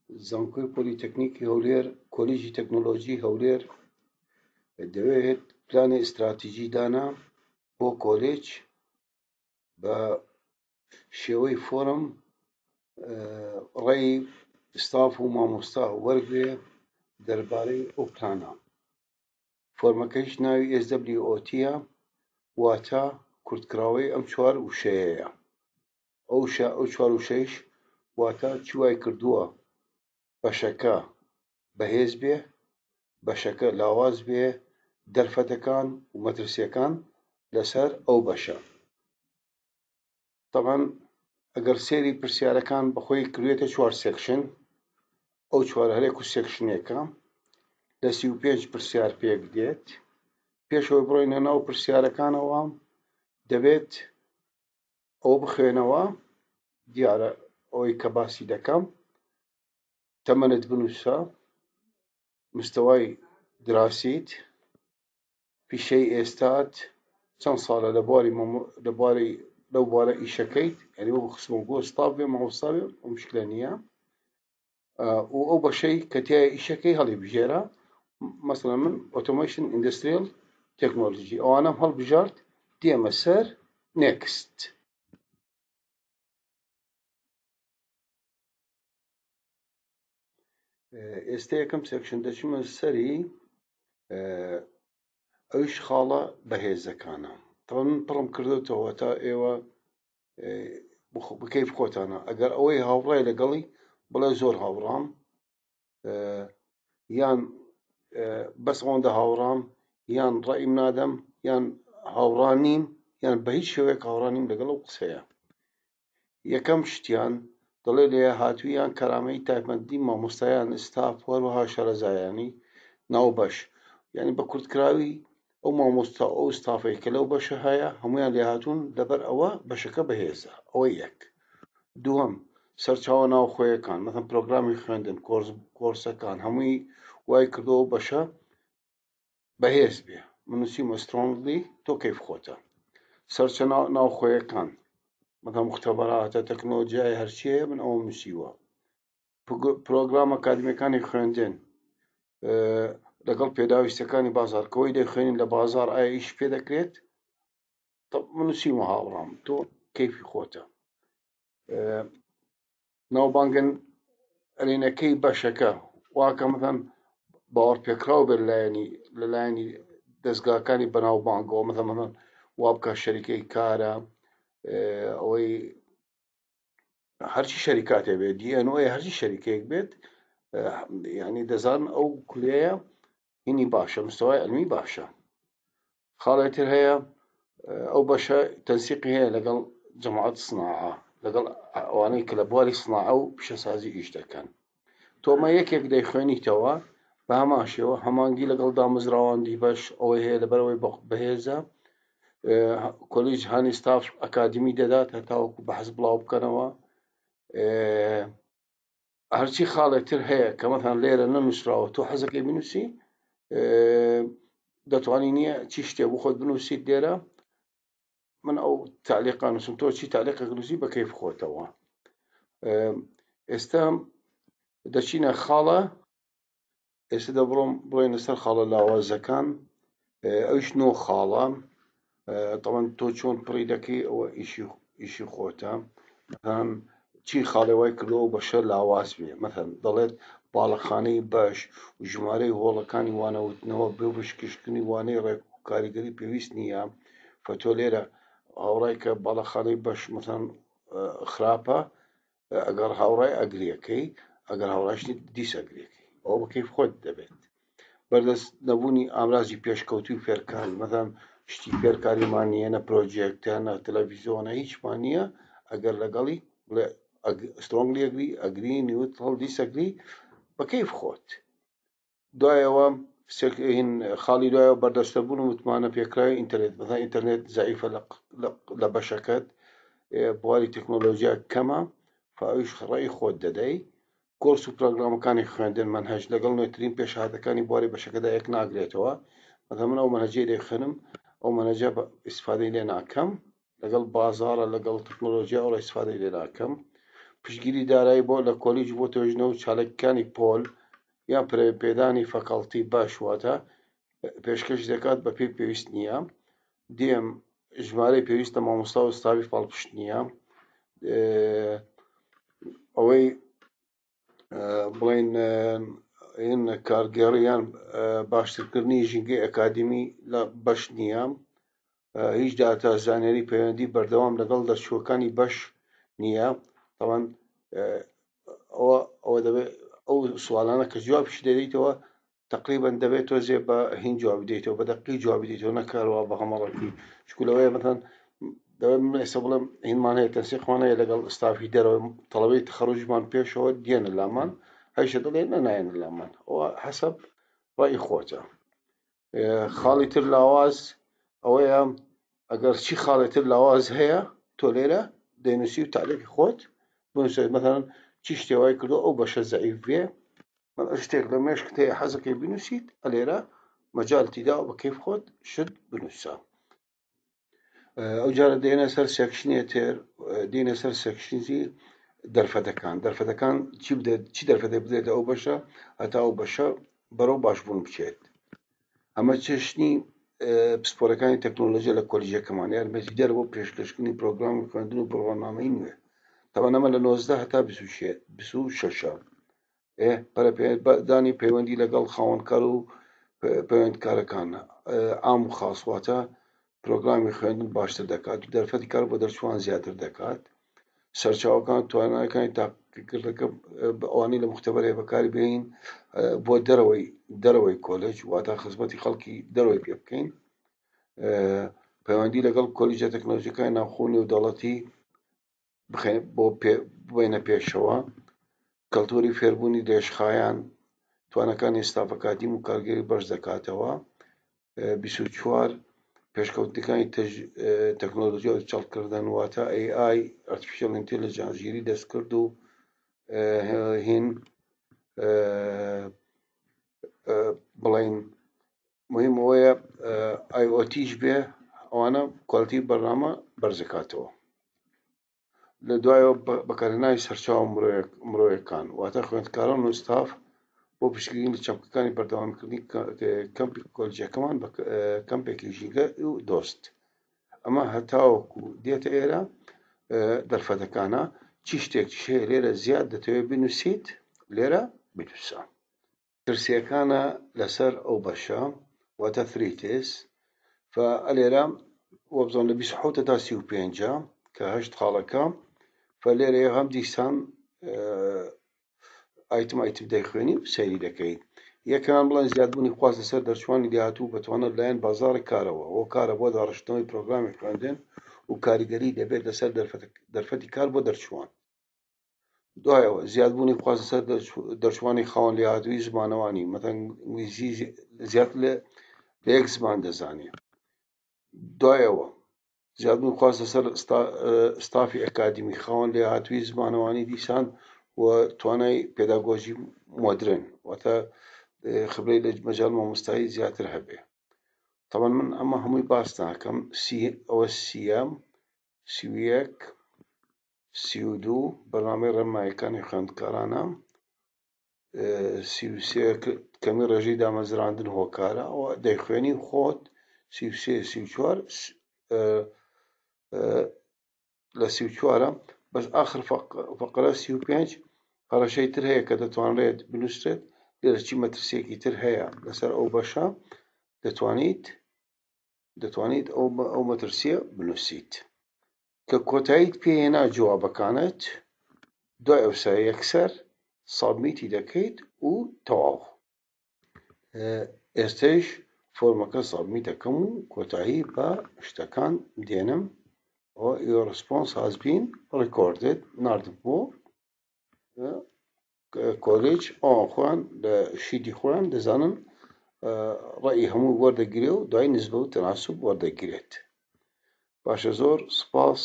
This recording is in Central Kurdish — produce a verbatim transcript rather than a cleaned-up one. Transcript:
زانکۆی پۆلیتەکنیکی هەولێر، کۆلیژی تەکنۆلۆژی هەولێر دەوێت پلانی ئیستراتیژی دانا بۆ کۆلێج بە شێوەی فۆرم ڕێی ستاف و مامۆستا وەرگێ دەربارەی ئەو پلانە. فۆرمەکەیش ناوی ئێس دەبلیو ئۆ تیە، واتە کورتکراوەی ئەم چوار وشەیەیە. ئەو ئەو چوار وشەیش واتە چی وای کردووە بەشەکە بەهێز بێ، بەشەکە لاواز بێ، دەرفەتەکان و مەترسیەکان لەسەر ئەو بەشە. طبعا ئەگەر سەیری پرسیارەکان بەخۆی کردوێتە چوار section، ئەو چوار هەرێک و section ێکە لە سی و پێنج پرسیار پێک دێت. پێشەوەی بڕۆینە ناو پرسیارەکانەوە دەبێت ئەو بخوێنەوە. دیارە ئەوەی کە باسی دەکەم تەمەنت بنووسە، مستەوای دراسیت، پیشەی ئێستات، چەند ساڵە لە بواری لە بواری لەو بوارە ئیشەکەیت، یعنی وەکو خسمە ستاف بێ مامۆستا بێ ئەو مشکلە نییە، و ئەو بەشەی کە تیایە ئیشەکەی هەڵی بژێرە. مەسەڵەن من automation industrial technology ئەوانەم هەڵبژارد، دێمە سەر next. ئێستا یەکەم section دەچمە سەری، ئەویش خاڵە بەهێزەکانە. طبعا من پڕم کردوتەوە تا ئێوە بکەیف خۆتانە. ئەگەر ئەوەی هاوڕای لەگەڵی بڵێ زۆر هاوڕام، یان بەس ئەوەندە هاوڕام، یان ڕەئیم نادەم، یان هاوڕا نیم، یان بە هیچ شێوەیەک هاوڕا نیم لەگەڵ ئەو قسەیە. یەکەم شتیان دەڵێ لێهاتوویان کەرامەی تایبەتمەندی مامۆستایان ستاف هەروەها شارەزایانی ناو بەش، یعنی بە کورتکراوی ئەو مامۆستا ئەو ستافەی کە لەو بەشە هەیە هەمویان لێهاتوون، لەبەر ئەوە بەشەکە بەهێزە. ئەوە یەک. دووەم سەرچاوە ناوخۆیەکان، مەثەن پرۆگرامی خوێندن، کۆرسەکان هەمووی وای کردەوە بەشە بەهێز بێ. من نووسیمە strongly، تۆ کەیف خۆتە. سەرچە ناوخۆیەکان مەثەن مختبەراتە، تەکنۆلۆژیای هەرچیەیە، من ئەوەم نووسیوە. پرۆگرام ئەکادیمیەکانی خوێندن لەگەڵ پێداویستەکانی بازار، کەوەی دەخوێنین لە بازار ئایا ئیش پێ دەکرێت؟ من نووسیمە هاوڕام، تۆ کەیفی خۆتە. ناوبانگن ئەرێنەکەی بەشەکە واکە مەثەن باوەڕپێکراو بێت لەلایەنی لەلایەنی دەستگاکانی بەناوبانگەوە، مەثەن مەثەن وا بکە شەریکەی کارە، ئەوەی هەرچی شەریکاتێ بێت، دی ئێن ئۆ هەرچی شەریکەیەک بێت، یعنی دەزان ئەو کولەیە هینی باشە، مستەوای علمی باشە. خاڵێ تر هەیە ئەو بەشە تەنسیقی هەیە لەگەڵ جەماعەت سناعە، لەگەڵ ئەوانەی کە لە بواری سناعە و پیشەسازی ئیش دەکەن. تۆمە یەکێک دەیخوێنیتەوە بە هەمان شێوە هەمانگی لەگەڵ دامەزراوەندی بەش ئەوەی هەیە، لەبەرەوەی بەهێزە. کۆلیژ هانی ستاف ئەکادیمی دەدات هەتاوەکو بەحث بڵاو بکەنەوە. هەرچی خاڵێک تر هەیە کە مەثەن لێرە نەنووسراوە تۆ حەزەکەی بنووسی، دەتوانی نییە چی شتێ بۆ خۆت بنووسیت لێرە. من ئەو تعلیقا نووسم، تۆ چی تعلیقێک نووسی بە کەیف خۆتەوە. ئێستا دەچینە خاڵە، ئێستا دەبڕۆم بڕۆینە سەر خاڵە لاوازەکان. ئەویش نۆ خاڵە. طبعا تۆ چۆن پڕی دەکەی ئەوە ئیشی خۆتە. مەثەن چی خاڵێ وای کردەوە بەشە لاواز بێ؟ مەثەن دەڵێت باڵەخانەی بەش و ژمارەی هۆڵەکانی وانەوتنەوە بێ بشکشکردنی وانەی ڕێک و کاریگەری پێویست نییە. فەتۆ لێرە هاوڕای کە باڵەخانەی بەش مەثەن خراپە، ئەگەر هاوڕای ئەگریەکەی، ئەگەر هاوڕایش دیس ئەگریەکەی، ئەوە بە کەیف خۆت دەبێت. بەردەست نەبوونی ئامرازی پێشکەوتوی فێرکاری، مەثەن شتی فێرکاریمان نییە، نە پرۆجێکتە، نە تەلەڤیزیۆنە، هیچمان نییە. ئەگەر لەگەڵی بڵێ strongly agree، agree، neutral، disagree، بە کەیف خۆت. دوایەوە خاڵی دوایەوە بەردەستەبوون و متمانە پێکراوی ئینتەرنێت. مەثەن ئینتەرنێت زەعیفە لە بەشەکەت، بواری تەکنۆلۆژیا کەمە، فەئەویش ڕێی خۆت دەدەی. کۆرس و پرۆگرامەکانی خوێندن مەنهەج لەگەڵ نوێترین پێشهاتەکانی بواری بەشەکەدا یەک ناگرێتەوە. مەثەن من ئەو مەنهەجەی دەیخوێنم ئەو مەنهەجە ئیسفادەی لێ ناکەم، لەگەڵ بازارە لەگەڵ تەکنۆلۆژیا ئەوڕە ئیسفادەی لێ ناکەم. پشتگیری دارایی بۆ لە کۆلیج بۆ توێژینەوە و چالاکیەکانی پۆل یان پەرەپێدانی faculty باش واتە پێشکەش دەکات بە پێی پێویست نییە. دێم ژمارەی پێویستە مامۆستا و ستافی پاڵپشت نییە. ئەوەی بڵێن هین کارگێڕی یان باشترکردنی ژینگەی ئەکادیمی لە بەش نییە. هیچ داتا زانیاری پەیوەندی بەردەوام لەگەڵ دەرچووەکانی بەش نییە. تەبعەن ئەوە ئەوە دەبێت ئەو سوالانە کە جوابیش دەدەیتەوە تقریبا دەبێت تۆزێ بە هین جواب بدەیتەوە، بە دەقی جواب بدەیتەوە، نەکارەوە بە هەمەڕەکی. چونکە لەوەیە مثلا دەبێت من ئێستا بڵێم هینمان هەیە، تەنسیقمان هەیە لەگەڵ ستافی دەرەوە، تەڵەبەی تەخەڕوجمان پێشەوە دێنە لامان، هەیشە دەڵێ نە نایەنە لامان. ئەوە حەسەب ڕەئی خۆتە. خاڵی تر لاواز ئەوەیە ئەگەر چی خاڵی تر لاواز هەیە تۆ لێرە دەینووسی و تەعلیقی خۆت بنووسێت. مثلا چی شتێ وای کردو ئەو بەشە زەعیف بێ، شتێک لە مێشکت هەیە حەزەکەی بنووسیت، ئەلێرە مەجالتی داوە بە کەیف خۆت شت بنووسە. ئەو جارە دێنە سەر section ێ تر، دێنە سەر section ی دەرفەتەکان. دەرفەتەکان چی بدێت، چی دەرفەتێک بدێتە ئەو بەشە هەتا ئەو بەشە بەرەو باشبوون بچێت. ئەمە چەشنی پسپۆرەکانی تەکنۆلۆژیا لە کۆلیژەکەمان یارمەتیدەر بۆ پێشکەشکردنی پرۆگرامی خوێندن و بڕوانامەی نوێ. تەبعەن ئەمە لە نۆزدە هەتا بیست و شەشە. پەرەپێدانی پەیوەندی لەگەڵ خاوەنکار و پەیوەندکارەکان عام و خاص، واتە پرۆگرامی خوێندن باشتر دەکات و دەرفەتی کار بۆ دەرچووان زیاتر دەکات. سەرچاوەکان توانایەکانی تاقیکردنەکە ئەوانەی لە مختبەرەیە بەکاری بێنین بۆ دەرەوەی دەرەوەی کۆلێج، واتە خزمەتی خەڵکی دەرەوەی پێ بکەین. پەیوەندی لەگەڵ کۆلیژە تەکنۆلۆژیەکانی ناوخۆ و نێودەوڵەتی بۆ ببەینە پێشەوە. کەلتوری فێربوونی درێژخایەن توانەکانی ستاف ئەکادیم و کارگێری بەرز دەکاتەوە. بیست و چوار پێشکەوتنەکانی تەکنۆلۆژیا و چاڵکردن، واتە A I Artificial Intelligence، ژیری دەستکرد و هین بڵێن مهم ئەوەیە I O T بێ، ئەوانە quality بەرنامە بەرزەکاتەوە. لە دوایەوە بەکارهێنانی سەرچاوە مرۆیەکان، واتە خوێندکاران و ستاف بۆ پشتگیری لە چەمکەکانی بەردەوامکردنی کەمپی کۆلیژەکەمان بە کەمپێکی ژینگە و دۆست. ئەمە هەتاوەکو دێتە ئێرە دەرفەتەکانە. چی شتێک هەیە لێرە زیاد دەتەوێت بنووسیت لێرە بنووسە. ترسیەکانە لەسەر ئەو بەشە، واتە threats. فلێرە وەبزانم لە بیست و حەوت تا سی و پێنجە کە هەشت خاڵەکە. فلێرە هەم دیسان item item دەیخوێنی و سەیری دەکەیت. یەکەمان بڵێن زیادبوونی خواست لەسەر دەرچوانی داهاتوو بەتوانە لایەن بازاڕی کارەوە، هۆکارە بۆ داڕشتنەوەی پرۆگرامی خوێندن و کاریگەری دەبێت لەسەر دەرفەتی کار بۆ دەرچووان. دوایەوە زیادبوونی خواست لەسەر دەرچوانی خاوەن لێهاتووی زمانەوانی، مەثەن ئینگلیزی زیاتر لە یەک زمان دەزانێت. دوایەوە زیادبوونی خواست لەسەر ستافی ئەکادیمی خاوەن لێهاتووی زمانەوانی دیسان و توانای پێداگۆژی مۆدرن، واتە خبرەی لە مەجال مامۆستایی زیاتر هەبێ. طبعا من ئەمە هەمووی باس ناکەم. ئەوە سیەم، سی و یەک، سی و دوو بەرنامەی ڕێنماییەکانی خوێندکارانە، سی و سێ کەمی ڕێژەی دامەزراندن هۆکارە، ئەوە دەیخوێنی خۆت. سی و سێ، سی و چوار لە سی و چوارە بەس ئاخر فەقرە سی و پێنج هەڕەشەی تر هەیە کە دەتوانرێت بنووسرێت. لێرە چی مەترسیەکی تر هەیە لەسەر ئەو بەشە دەتوانیت دەتوانیت ئەو مەترسیە بنووسیت. کە کۆتاییت پێهێنا جوابەکانت، دوای ئەوسا یەکسەر submit ی دەکەیت و تەواو. ئێستەیش فۆرمەکە submit دەکەم و کۆتایی بە شتەکان دێنم. Your response has been recorded. ناردم بۆ کۆلێج. ئەوان خۆیان لە sheet ی خۆیان دەزانن ڕەئی هەموو وەردەگیرێ و دوای نسبە و تەناسوب وەردەگیرێت. باشە، زۆر سپاس.